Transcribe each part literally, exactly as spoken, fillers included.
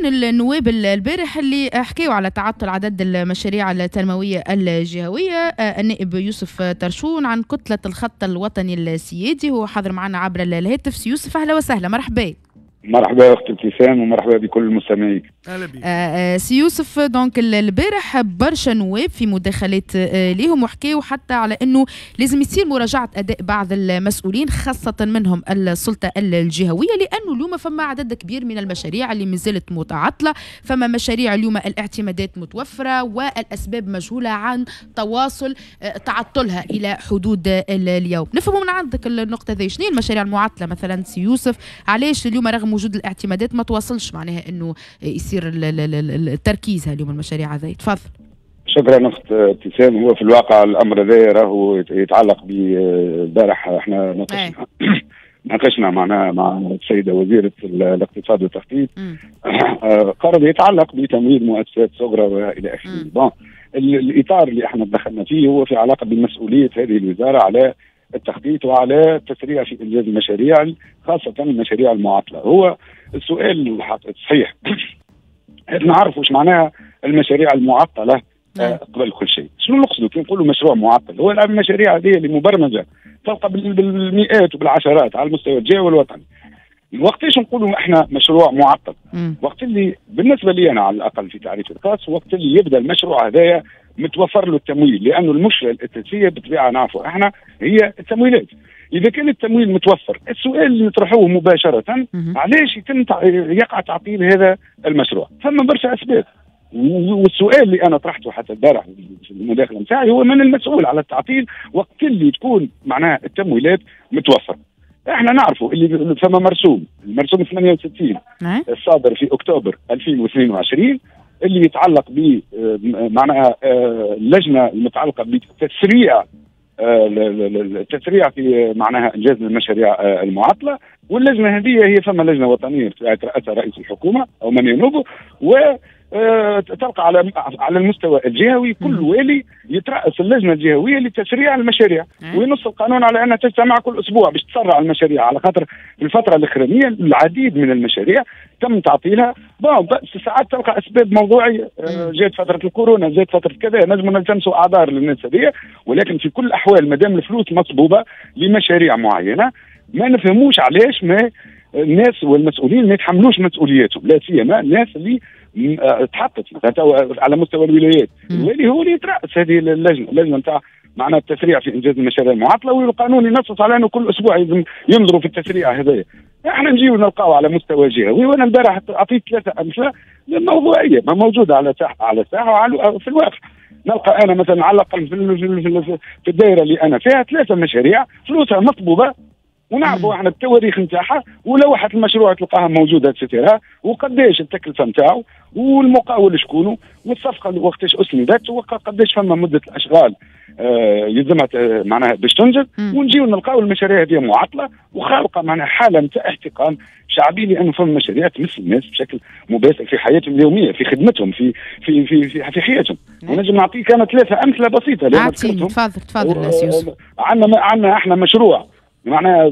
بين النواب البارح اللي حكيوا على تعطل عدد المشاريع التنموية الجهوية النائب يوسف ترشون عن كتلة الخط الوطني السيادي، هو حاضر معنا عبر الهاتف. سي يوسف أهلا وسهلا، مرحبا. مرحبا اختي ابتسام ومرحبا بكل المستمعين. اهلا بك. آه سي يوسف، donc البارح برشا نواب في مداخلات آه ليهم وحكاوا حتى على انه لازم يصير مراجعه اداء بعض المسؤولين، خاصة منهم السلطة الجهويه، لانه اليوم فما عدد كبير من المشاريع اللي مازالت متعطله، فما مشاريع اليوم الاعتمادات متوفرة والاسباب مجهولة عن تواصل آه تعطلها الى حدود اليوم. نفهموا من عندك النقطة ذي، شنو المشاريع المعطلة مثلا سي يوسف؟ علاش اليوم رغم وجود الاعتمادات ما تواصلش معناها انه يصير التركيز اليوم المشاريع هذه؟ تفضل. شكرا اخت ابتسام. هو في الواقع الامر هذا راهو يتعلق بالبارح احنا ناقشنا ناقشنا معنا مع السيدة وزيره الاقتصاد والتخطيط قرض يتعلق بتمويل مؤسسات صغرى والى اخره. bon، الاطار اللي احنا دخلنا فيه هو في علاقة بمسؤولية هذه الوزارة على التخطيط وعلى التسريع في انجاز المشاريع، خاصة المشاريع المعطلة. هو السؤال الصحيح نعرفوا ايش معناها المشاريع المعطلة آه قبل كل شيء. شنو نقصدوا كي نقولوا مشروع معطل؟ هو المشاريع هذه اللي مبرمجه تلقى بالمئات وبالعشرات على المستوى الجهوي والوطني. وقتاش نقولوا احنا مشروع معطل؟ م. وقت اللي بالنسبة لي انا على الاقل في تعريف الخاص، وقت اللي يبدا المشروع هذايا متوفر له التمويل، لانه المشكلة الاساسية بالطبيعة نعرفوا احنا هي التمويلات. اذا كان التمويل متوفر، السؤال اللي نطرحوه مباشرة علاش يتم يقع تعطيل هذا المشروع؟ ثم برشا اسباب، والسؤال اللي انا طرحته حتى البارح في المداخلة نتاعي هو من المسؤول على التعطيل وقت اللي تكون معناها التمويلات متوفرة؟ احنا نعرفوا اللي ثم مرسوم، المرسوم ثمانية وستين الصادر في اكتوبر ألفين واثنين وعشرين اللي يتعلق ب معناها اللجنة المتعلقة بتسريع التسريع في معناها انجاز المشاريع المعطلة. واللجنة هذه هي ثم لجنة وطنية ترأسها رئيس الحكومة او من ينوبه، و تلقى على على المستوى الجهوي كل والي يترأس اللجنة الجهوية لتسريع المشاريع، وينص القانون على انها تجتمع كل اسبوع باش تسرع المشاريع، على خاطر في الفترة الاخرانية العديد من المشاريع تم تعطيلها. bon، ساعات تلقى اسباب موضوعية، جات فترة الكورونا، جات فترة كذا، نجموا نلتمسوا اعذار للناس هذه، ولكن في كل الاحوال ما دام الفلوس مصبوبه لمشاريع معينة ما نفهموش علاش ما الناس والمسؤولين ما يتحملوش مسؤولياتهم، لا سيما الناس اللي تحطت على مستوى الولايات. الوالي هو اللي يترأس هذه اللجنة، اللجنة نتاع معناها التسريع في انجاز المشاريع المعطلة، والقانون ينص على انه كل اسبوع لازم ينظروا في التسريع هذايا. احنا نجيو نلقاو على مستوى جهوي، وانا البارح اعطيت ثلاثة امثلة موضوعية ما موجودة على ساحة على الساحة وعلى في الواقع. نلقى انا مثلا على الاقل في, في الدائرة اللي انا فيها ثلاثة مشاريع فلوسها مطلوبه ونعرفوا احنا التواريخ نتاعها ولوحه المشروع تلقاها موجودة et cetera، وقداش التكلفة نتاعو والمقاول شكونه والصفقه وقتاش اسندت وقداش فما مده الاشغال آه يلزمها معناها باش تنجز. ونجيو نلقاو المشاريع هذه معطلة وخالقه معناها حاله نتاع احتقان شعبي، لانه فما مشاريع تمس الناس بشكل مباشر في حياتهم اليومية، في خدمتهم، في في في في, في حياتهم. ونجم نعطيك انا ثلاثة امثلة بسيطة. اعطيني، تفضل تفضل سي يوسف. عندنا عندنا احنا مشروع معناها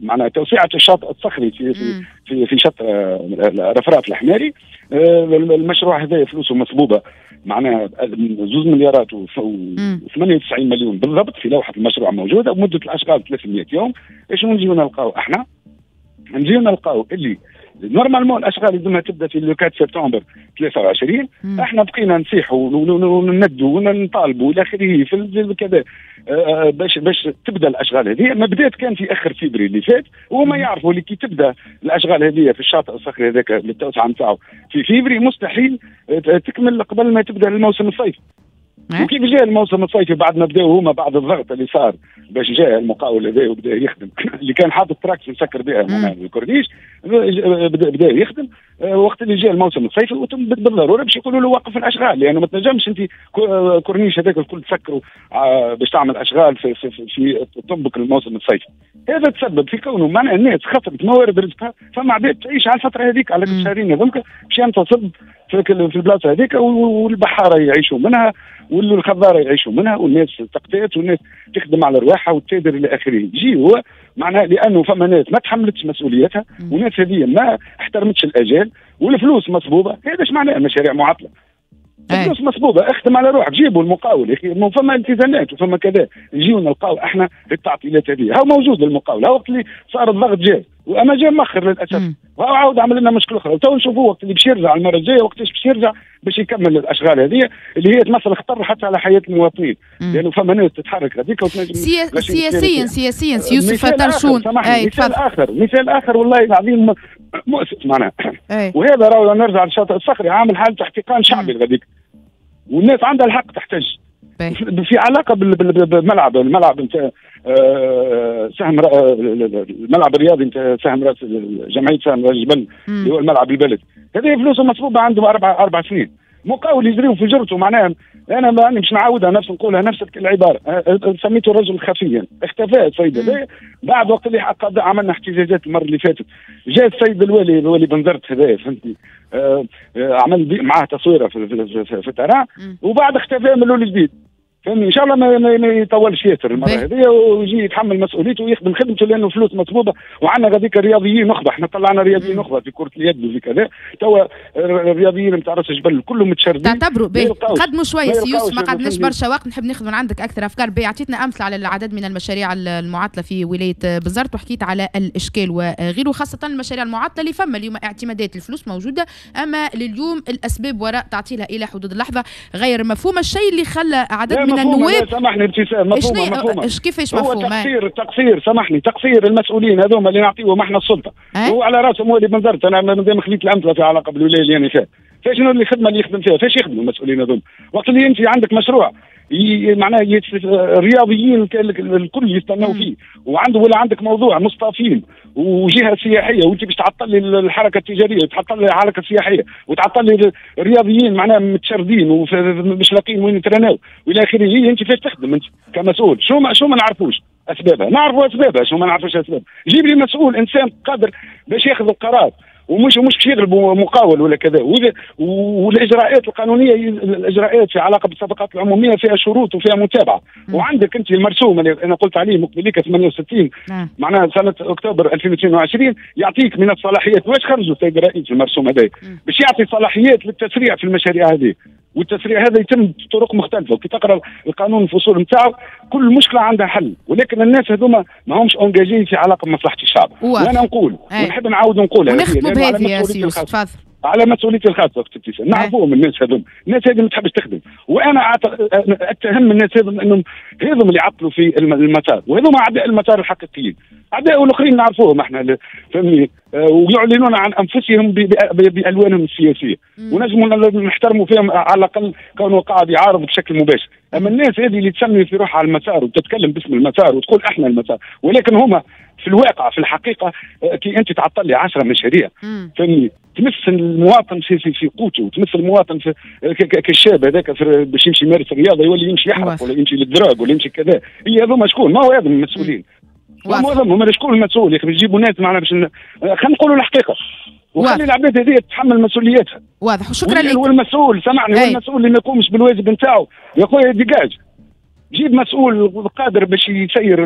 معناها توسعه الشاطئ الصخري في في في, في شط رفراف الحماري. المشروع هذا فلوسه مصبوبه معناها زوز مليارات وثمانية وتسعين مليون بالضبط في لوحة المشروع موجودة، ومده الاشغال ثلاثمئة يوم. ايش نجيو نلقاو احنا؟ نجيو نلقاو اللي normalement الاشغال لازمها تبدا في le أربعة سبتمبر ثلاثة وعشرين. مم. احنا بقينا نصيحوا ونندوا ونطالبوا الى اخره في كذا باش باش تبدا الاشغال هذه. ما بدات كان في اخر فبراير اللي فات، وما يعرفوا اللي كي تبدا الاشغال هذه في الشاطئ الصخري هذاك للتوسعه نتاعو في فبراير مستحيل تكمل قبل ما تبدا الموسم الصيفي. وكيف جاء الموسم الصيفي بعد ما بداوا هما بعد الضغط اللي صار باش جاء المقاول هذا وبدا يخدم اللي كان حاطط تراكس مسكر بها الكورنيش بدا, بدا يخدم. وقت اللي جاء الموسم الصيفي بالضرورة باش يقولوا له وقف الاشغال، لانه ما تنجمش انت كورنيش هذاك الكل تسكره باش تعمل اشغال في في, في, في تطبق الموسم الصيفي. هذا تسبب في كونه معناها الناس خسرت موارد رزقها، فما عباد تعيش على الفترة هذيك على الشهرين هذوك باش ينتصب في في البلاصة هذيك، والبحاره يعيشوا منها والخضاره يعيشوا منها والناس تقتات والناس تخدم على رواحها وتتاجر الى اخره. يجي هو معناها لانه فما ناس ما تحملتش مسؤوليتها وناس هذه ما احترمتش الاجال والفلوس مصبوبه. هذا ايش معناه مشاريع معطلة؟ الفلوس مصبوبه، اخدم على روحك، جيبوا المقاول يا اخي، فما التزامات وفما كذا، نجيو نلقاو احنا التعطيلات هذه. هاو موجود المقاول، هاو وقت اللي صار الضغط جاي، واما جاء مخر للاسف، وهو عاود عمل لنا مشكلة اخرى، وتو نشوفوه وقت اللي باش يرجع المرة الجاية، وقتاش باش يرجع باش يكمل الاشغال هذه اللي هي تمثل خطر حتى على حياة المواطنين، لانه فما ناس تتحرك هذيك وتنجم. سيا... سياسيا سياسيا يوسف طرشون، مثال اخر مثال اخر والله العظيم مؤسف معناها، وهذا راهو نرجع للشاطئ الصخري عامل حاله احتقان شعبي غاديك، والناس عندها الحق تحتج في علاقة بالملعب، الملعب نتاع سهم الملعب الرياضي نتاع سهم راس جمعية سهم راس الجبل اللي هو الملعب البلدي، هذه فلوسه مصروبه عنده اربع اربع سنين، مقاول يجريو في جرته. معناها انا ماني مش نعاودها نفس نقولها نفس العبارة، سميته رجل خفيا، اختفى السيد هذا بعد وقت اللي عملنا احتجاجات المرة اللي فاتت، جاء السيد الوالي الوالي بنزرت هذايا فهمتني، آه عمل معاه تصويره في في, في, في ال terrain، وبعد اختفى من الاول جديد. فهمني ان شاء الله ما, ما يطولش ياسر المرة هذه ويجي يتحمل مسؤوليته ويخدم خدمته، لانه فلوس مطلوبه، وعندنا غاديك الرياضيين نخبة، احنا طلعنا رياضيين نخبة في كره اليد وفي كذا، توا الرياضيين نتاع راس الجبل كلهم متشردين. تعتبروا باهي، قدموا شوية سي يوسف، ما قعدناش برشا وقت، نحب ناخذ من عندك اكثر افكار. باهي، عطيتنا امثلة على العدد من المشاريع المعطلة في ولاية بنزرت، وحكيت على الاشكال وغيره، خاصة المشاريع المعطلة اللي فما اليوم اعتمادات الفلوس موجودة، اما لليوم الاسباب وراء تعطيلها الى حدود اللحظة غير مفهومه، الشيء اللي خلى عدد من النواب. سامحني ابتسام، مفهومه مفهومه كيفاش مفهومه؟ هو تقصير تقصير سامحني تقصير المسؤولين هذوما اللي نعطيهم احنا السلطة، هو على راسهم والي بنزرت. انا مادام خليت الامثلة في علاقة بالولايه اللي انا فيها، فشنو اللي الخدمة اللي يخدم فيها؟ فاش يخدموا المسؤولين هذوما؟ وقت اللي انت عندك مشروع معناها الرياضيين الكل يستناو فيه، وعنده ولا عندك موضوع مصطفين وجهه سياحية، وانت باش تعطل لي الحركة التجارية وتعطل لي الحركة السياحية وتعطل لي الرياضيين معناها متشردين ومش لاقيين وين يترناو والى اخره، انت فاش تخدم انت كمسؤول؟ شو ما شو ما نعرفوش اسبابها، نعرفوا اسبابها، شو ما نعرفوش اسبابها؟ جيب لي مسؤول انسان قادر باش ياخذ القرار، ومش مش باش يغلبوا مقاول ولا كذا، والاجراءات القانونية الاجراءات في علاقة بالصفقات العمومية فيها شروط وفيها متابعه، م. وعندك انت المرسوم اللي انا قلت عليه مقبليك ثمانية وستين معناها سنة اكتوبر ألفين واثنين وعشرين يعطيك من الصلاحيات، واش خرجوا السيد الرئيس المرسوم هذا باش يعطي صلاحيات للتسريع في المشاريع هذه، والتسريع هذا يتم بطرق مختلفة، وكي تقرا القانون الفصول نتاعو كل مشكلة عندها حل، ولكن الناس هذوما ما همش engagés في علاقة بمصلحة الشعب. وانا نقول ونحب نعاود نقولها ونختموا بهذه يا سي يوسف، تفضل. على مسؤوليتي الخاصة اختي ابتسام، نعرفوهم الناس هذوم، الناس هذه ما تحبش تخدم، وانا اتهم الناس هذوم انهم هذوم اللي عطلوا في المسار، وهذوم اعداء المسار الحقيقيين، اعداء الاخرين نعرفوهم احنا فهمني، ويعلنون عن انفسهم بالوانهم السياسية، ونجموا نحترموا فيهم على الاقل كونه قاعد يعارض بشكل مباشر، اما الناس هذه اللي تسمي في روحها على المسار وتتكلم باسم المسار وتقول احنا المسار، ولكن هما في الواقع في الحقيقة كي انت تعطل لي عشرة مشاريع فهمني تمس المواطن في في, في قوته، وتمس المواطن في كالشاب هذاك باش يمشي يمارس الرياضة يولي يمشي يحرق ولا يمشي لل drogue ولا يمشي كذا، هي هذوما شكون؟ ما هو هذوما المسؤولين، ما هو هذوما شكون المسؤول؟ يا اخي يجيبوا ناس معنا باش خلينا نقولوا الحقيقة، وخلي العباد هذه تتحمل مسؤوليتها. واضح، وشكرا لك. والمسؤول سامحني، والمسؤول اللي ما يقومش بالواجب نتاعو يا خويا dégage، جيب مسؤول قادر باش يسير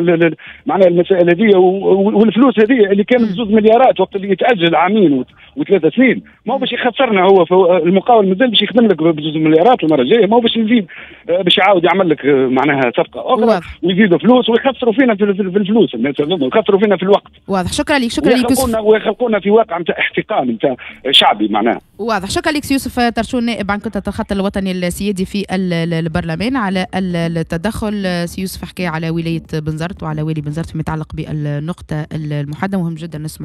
معناها المسائل هذه، والفلوس هذه اللي كانت زوج مليارات وقت اللي يتاجل عامين وثلاثة سنين، ما هو باش يخسرنا هو، المقاول مازال باش يخدم لك بزوج مليارات المرة الجاية، ما هو باش يزيد باش يعاود يعمل لك معناها صفقة اخرى ويزيدوا فلوس ويخسروا فينا في الفلوس الناس هذوما، ويخسروا فينا في الوقت. واضح، شكرا لك، شكرا لك يوسف. ويخلقونا في واقع نتاع احتقان نتاع شعبي معناها. واضح، شكرا لك يوسف طرشون نائب عن كتلة الخط الوطني السيادي في البرلمان على التدخل. سي يوسف حكى على ولاية بنزرت وعلى والي بنزرت فيما يتعلق بالنقطة المحددة، مهم جدا نسمع